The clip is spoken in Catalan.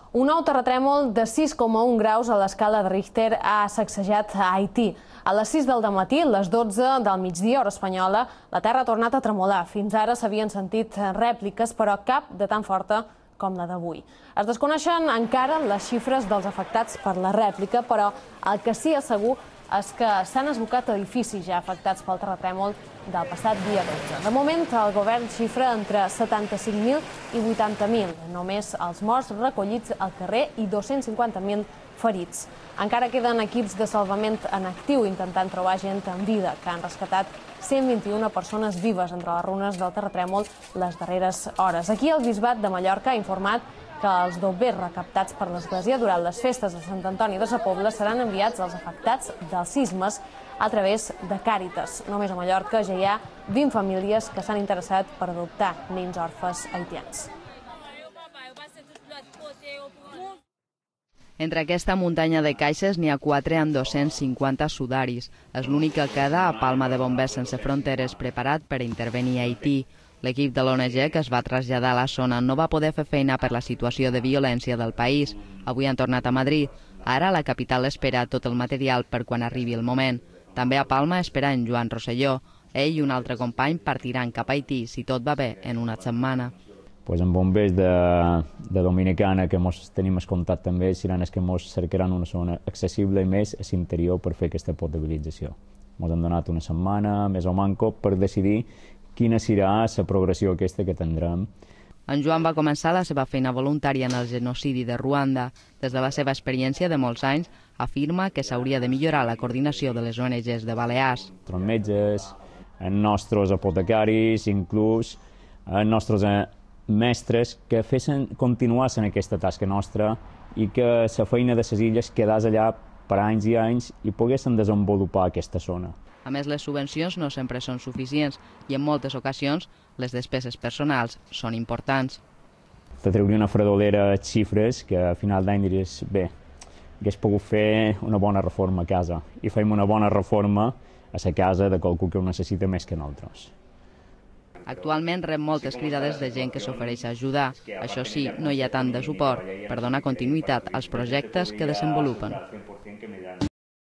Un nou terratrèmol de 6,1 graus a l'escala de Richter ha sacsejat a Haití. A les 6 del dematí, les 12 del migdia, hora espanyola, la terra ha tornat a tremolar. Fins ara s'havien sentit rèpliques, però cap de tan forta com la d'avui. Es desconeixen encara les xifres dels afectats per la rèplica, però el que sí és segur és que s'han esbocat edificis ja afectats pel terratrèmol del passat dia 12. De moment, el govern xifra entre 75.000 i 80.000, només els morts recollits al carrer i 250.000 ferits. Encara queden equips de salvament en actiu intentant trobar gent en vida, que han rescatat 121 persones vives entre les runes del terratrèmol les darreres hores. Aquí el Bisbat de Mallorca ha informat que els dobbers recaptats per l'Església durant les festes de Sant Antoni de Sa Pobla seran enviats als afectats dels sismes a través de Càritas. Només a Mallorca ja hi ha 20 famílies que s'han interessat per adoptar nens orfes haitians. Entre aquesta muntanya de caixes n'hi ha 4 amb 250 sudaris. És l'únic que queda a Palma de Bombers Sense Fronteres preparat per intervenir a Haití. L'equip de l'ONG que es va traslladar a la zona no va poder fer feina per la situació de violència del país. Avui han tornat a Madrid. Ara la capital espera tot el material per quan arribi el moment. També a Palma espera en Joan Rosselló. Ell i un altre company partiran cap a Haití, si tot va bé, en una setmana. Amb bombers de Dominicana, que tenim el contacte amb ells, seran els que ens cercaran una zona accessible i més a l'interior per fer aquesta potabilització. Ens han donat una setmana, més o manco, per decidir quina serà la progressió aquesta que tindrem. En Joan va començar la seva feina voluntària en el genocidi de Ruanda. Des de la seva experiència de molts anys, afirma que s'hauria de millorar la coordinació de les ONGs de Balears. Els metges, els nostres apotecaris, inclús els nostres mestres que continuessin aquesta tasca nostra i que la feina de les illes quedés allà per anys i anys i poguessin desenvolupar aquesta zona. A més, les subvencions no sempre són suficients i en moltes ocasions les despeses personals són importants. Te trauria una fredolera xifres que a final d'any diries, bé, hagués pogut fer una bona reforma a casa i fem una bona reforma a la casa de qualcú que ho necessita més que nosaltres. Actualment rep moltes cridades de gent que s'ofereix a ajudar. Això sí, no hi ha tant de suport per donar continuïtat als projectes que desenvolupen.